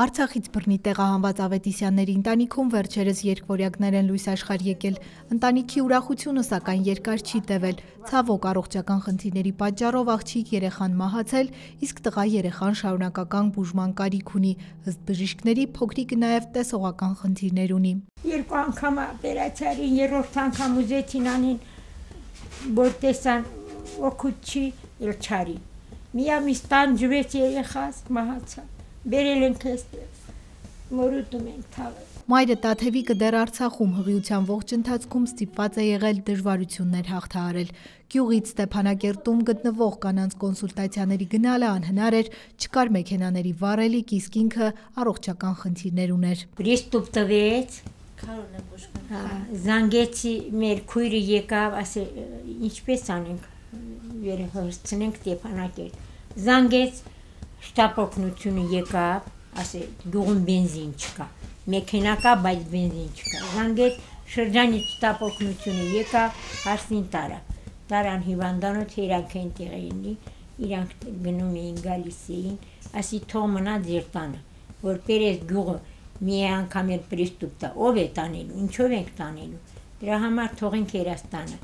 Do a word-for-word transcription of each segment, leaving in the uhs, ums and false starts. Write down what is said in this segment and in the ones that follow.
Արցախից բռնի տեղահանված Ավետիսյանների ընտանիքում վերջերս երկվորյակներ են լույս աշխարհ եկել։ Ընտանիքի ուրախությունը սակայն երկար չի տևել։ Ցավոք առողջական խնդիրների պատճառով աղջիկ երեխան մահացել, իսկ տղա երեխան շարունակական բուժման կարիք ունի։ Ըստ բժիշկների փոքրիկը նաև տեսողական խնդիրներ ունի։ Երկու անգամ օպերացիային, երրորդ անգամ ուզեցին անին, որ տեսան օգուտ չի, էլ չարի։ Միամիս տանջվեց երեխաս, մահացավ։ Բերել ենք այստեղ, մորուտում ենք թաղել։ Մայրը Տաթևիկը դեռ Արցախում հղիության ողջ ընթացքում ստիպված է եղել դժվարություններ հաղթահարել։ Գյուղից Ստեփանակերտում գտնվող կանանց կոնսուլտացիաների գնալը անհնար էր, չկար մեքենաների վառելիք, իսկ ինքը առողջական խնդիրներ ուներ։ Պրիստուպ տվեց, զանգեցի մեր քույրը եկավ, ասել ինչպես անենք, վերհսցնենք Ստեփանակերտ։ Զանգեց շտապօգնությունը եկավ, ասել գյուղում բենզին չկա, մեքենա կա, բայց բենզին չկա։ Զանգեց շրջանից շտապօգնությունը եկավ, հարսին տարավ։ Տարան հիվանդանոց իրանք այնտեղ էին, իրանք գնում էին, գալիս էին, ասի թող մնա ձեր տանը, որ պերես գյուղը մի անգամ էլ պրիստուպ տա, ով է տանելու, ինչով ենք տանելու։ Դրա համար թողենք երաս տանը։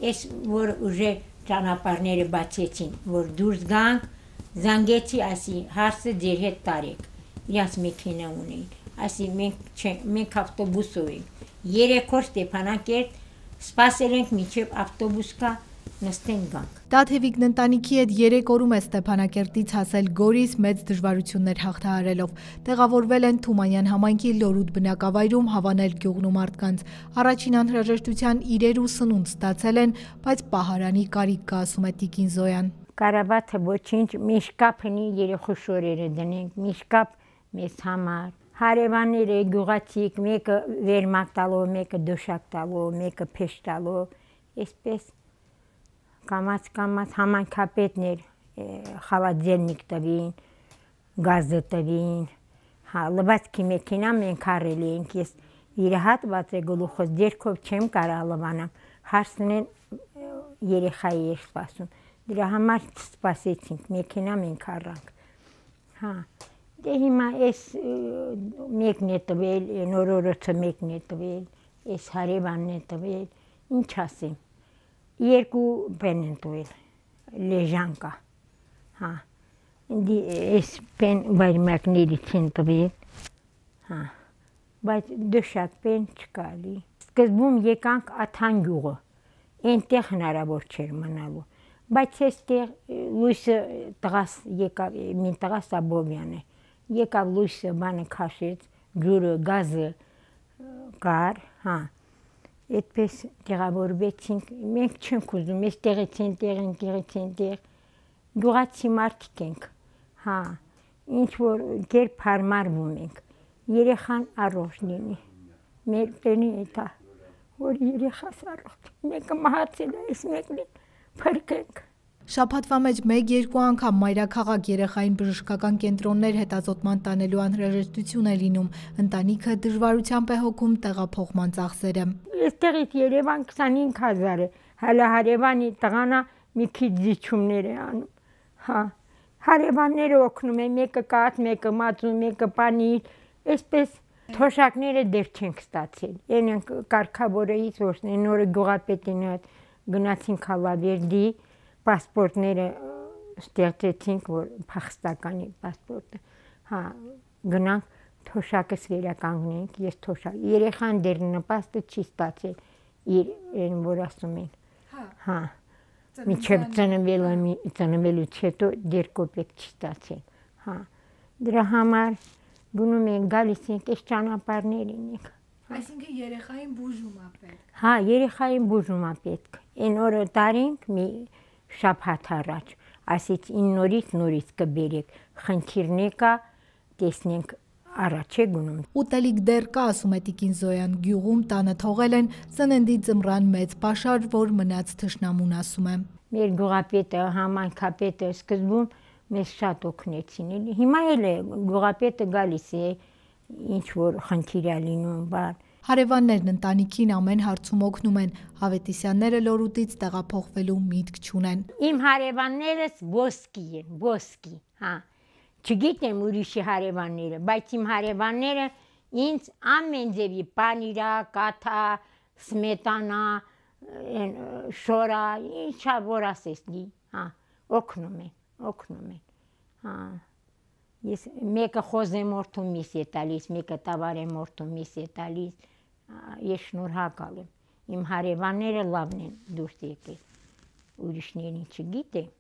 Էս որ ուժե ճանապարհները բացեցին, որ դուրս գանք, զանգեցի, ասի հարսը ձեր հետ տարեք, իրաց մեքենա ունեին, ասի մենք մենք ավտոբուսով ենք, երեք օր Ստեփանակերտ սպասել ենք մինչև ավտոբուս կա, նստենք գանք։ Տաթևիկն ընտանիքի հետ երեք օրում է Ստեփանակերտից հասել Գորիս մեծ դժվարություններ հաղթահարելով։ Տեղավորվել են Թումանյան համայնքի Լորուտ բնակավայրում, հավանել գյուղն ու մարդկանց։ Առաջին անհրաժեշտության իրեր ու սնունդ ստացել են, բայց պահարանի կարիք կա, ասում է տիկին Զոյան։ Կարաբաթը ոչինչ, միշկափնի երեխու շորերը դնենք, միշկափ մեզ համար։ Հարևանները գյուղացիք, մեկը վերմակ տալով, մեկը դոշակ տալով, մեկը փեշ տալով, այսպես կամաց կամաց համայնքապետներ խալաձելնիկ տվին, գազը տվին, հա, լվացքի մեքենա մենք առել ենք, ես իրահատված է գլուխս, ձերքով չեմ կարող լվանամ, հարսնեն երեխայի էր սպասում, դրա համար սպասեցինք, մեքենա մենք առանք, հա, դե հիմա ես մեկն է տվել, նորորոցը մեկն է տվել, ես հարևանն է տվել, ինչ ասեմ, երկու պեն են տվել, լեժան կա, հա, ես պեն վայրմակներից են տվել, հա, բայց դոշակ պեն չկալի, սկզբում եկանք Աթան գյուղը, այնտեղ հնարավոր չէր մնալու, բայց այստեղ լույսը տղաս եկավ, մի տղաս Աբովյան է, եկավ լույսը բանը քաշեց, ջուրը, գազը կար, հա, այդպես տեղավորվեցինք, մենք չենք ուզում, ես տեղից են տեղ, տեղից են տեղ, գյուղացի մարդիկ ենք, հա, ինչ որ կերպ հարմարվում ենք, երեխան առողջ լինի, մեր տենի էտա, որ երեխաս առողջ, մեկը մահացել է, ես մեկն փրկենք։ Շաբաթվա մեջ մեկ-երկու անգամ մայրաքաղաք երեխային բժշկական կենտրոններ հետազոտման տանելու անհրաժեշտություն է լինում, ընտանիքը դժվարությամբ է հոգում տեղափոխման ծախսերը։ Այստեղից Երևան քսանհինգ հազար է, հələ հարևանի տղանա մի քիչ զիջումներ է անում, հա, հարևանները օգնում են, մեկը կաթ, մեկը մածուն, մեկը պանիր, այսպես թոշակները դեռ չենք ստացել, այն կարգավորից որն նորը գյուղապետին հետ գնացինք Հալավերդի, պասպորտները ստեղծեցինք, որ փախստականի պասպորտը, հա, գնանք թոշակս վերականգնենք, ես թոշակ, երեխան դեռ նպաստը չի ստացել, իր այն որ ասում են, հա, մինչև ծնվելուց հետո դեռ կոպեկ չի ստացել, հա, դրա համար գնում ենք, գալիս ենք, այս ճանապարհներին ենք։ Այսինքն երեխային բուժում է պետք։ Հա, երեխային բուժում է պետք, այն օրը տարինք մի շաբաթ առաջ, ասից ին նորից նորից կբերեք, խնդիրներ կա, տեսնենք առաջ է գնում։ Ուտելիք դեռ կա, ասում է տիկին Զոյան, գյուղում տանը թողել են ծննդի ձմռան մեծ պաշար, որ մնաց թշնամուն, ասում է։ Մեր գյուղապետը, համայնքապետը սկզբում մեզ շատ օգնեցին, հիմա էլ է գյուղապետը գալիս է, ինչ որ խնդիր է լինում, բան։ Հարևաններն ընտանիքին ամեն հարցում օգնում են, Ավետիսյանները Լորուտից տեղափոխվելու միտք չունեն։ Իմ հարևաններս ոսկի են, ոսկի, հա, Չգիտեմ ուրիշի հարևանները, բայց իմ հարևանները ինձ ամեն ձևի պանիրա, կաթա, սմետանա, շորա, ինչա որ ասես, հա, օգնում են, օգնում են, հա, ես մեկը խոզեմորթու միս է տալիս, մեկը տավարեմորթու միս է տալիս, ես շնորհակալ եմ, իմ հարևանները լավն են դուրս եկել, ուրիշներին չգիտեմ,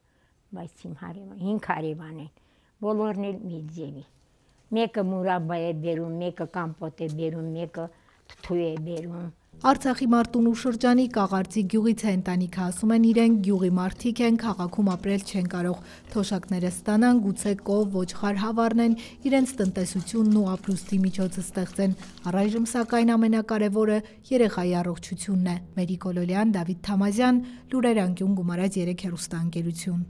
բայց իմ հարևան, հինգ հարևան են, բոլորն էլ մի ձևի, մեկը մուրաբա է բերում, մեկը կամպոտ է բերում, մեկը թթու է բերում։ Արցախի Մարտունու շրջանի Կաղարծի գյուղից է ընտանիքը ասում են իրենք գյուղի մարդիկ են, քաղաքում ապրել չեն կարող, թոշակները ստանան, գուցե կով, ոչխար հավառնեն, իրենց տնտեսությունն ու ապրուստի միջոցը ստեղծեն։ Առայժմ սակայն ամենակարևորը երեխայի առողջությունն է։ Մերի Կոլոլյան, Դավիթ Թամազյան, Լուրեր անկյուն, Գումարած երեք հեռուստաընկերություն։